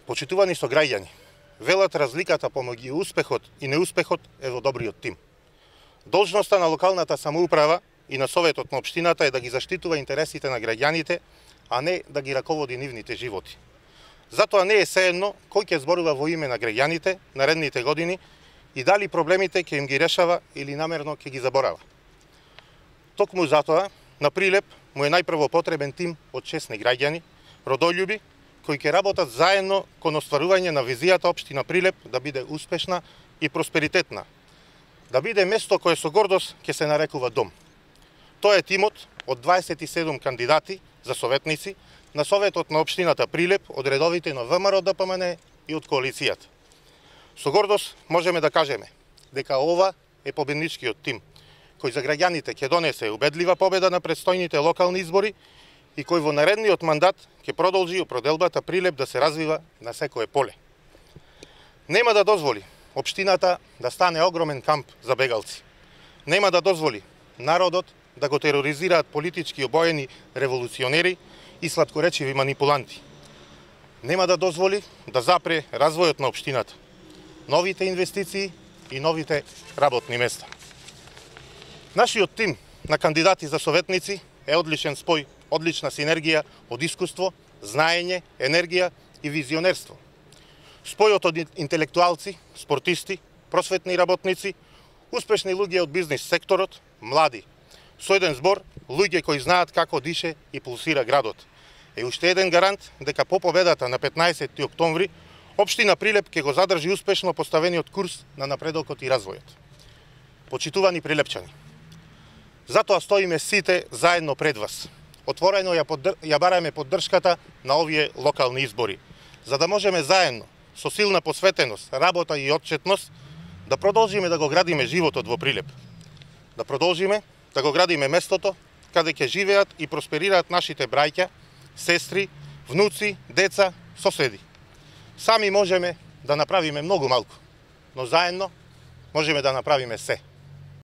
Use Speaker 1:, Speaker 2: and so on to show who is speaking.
Speaker 1: Почитувани сограѓани, велат разликата помеѓу успехот и неуспехот е во добриот тим. Должноста на локалната самоуправа и на советот на општината е да ги заштитува интересите на граѓаните, а не да ги раководи нивните животи. Затоа не е сеедно кој ќе зборува во име на граѓаните наредните години и дали проблемите ќе им ги решава или намерно ќе ги заборава. Токму затоа, на Прилеп му е најпрво потребен тим од честни граѓани, родолюби, кои ќе работат заедно кон остварување на визијата општина Прилеп да биде успешна и просперитетна, да биде место кое со гордост ќе се нарекува дом. Тоа е тимот од 27 кандидати за советници на Советот на општината Прилеп од редовите на ВМРО ДПМН и од коалицијата. Со гордост можеме да кажеме дека ова е победничкиот тим, кој за граѓаните ќе донесе убедлива победа на предстојните локални избори и кој во наредниот мандат ќе продолжи проделбата Прилеп да се развива на секое поле. Нема да дозволи општината да стане огромен камп за бегалци. Нема да дозволи народот да го тероризираат политички обоени револуционери и сладкоречиви манипуланти. Нема да дозволи да запре развојот на општината, новите инвестиции и новите работни места. Нашиот тим на кандидати за советници е одличен спој, одлична синергија од искуство, знаење, енергија и визионерство. Спојот од интелектуалци, спортисти, просветни работници, успешни луѓе од бизнис секторот, млади. Со еден збор, луѓе кои знаат како дише и пулсира градот. Е уште еден гарант дека по победата на 15 октомври, општина Прилеп ќе го задржи успешно поставениот курс на напредокот и развојот. Почитувани прилепчани, затоа стоиме сите заедно пред вас. Отворено ја бараме поддршката на овие локални избори, за да можеме заедно, со силна посветеност, работа и отчетност, да продолжиме да го градиме животот во Прилеп. Да продолжиме да го градиме местото каде ќе живеат и просперираат нашите браќа, сестри, внуци, деца, соседи. Сами можеме да направиме многу малку, но заедно можеме да направиме се.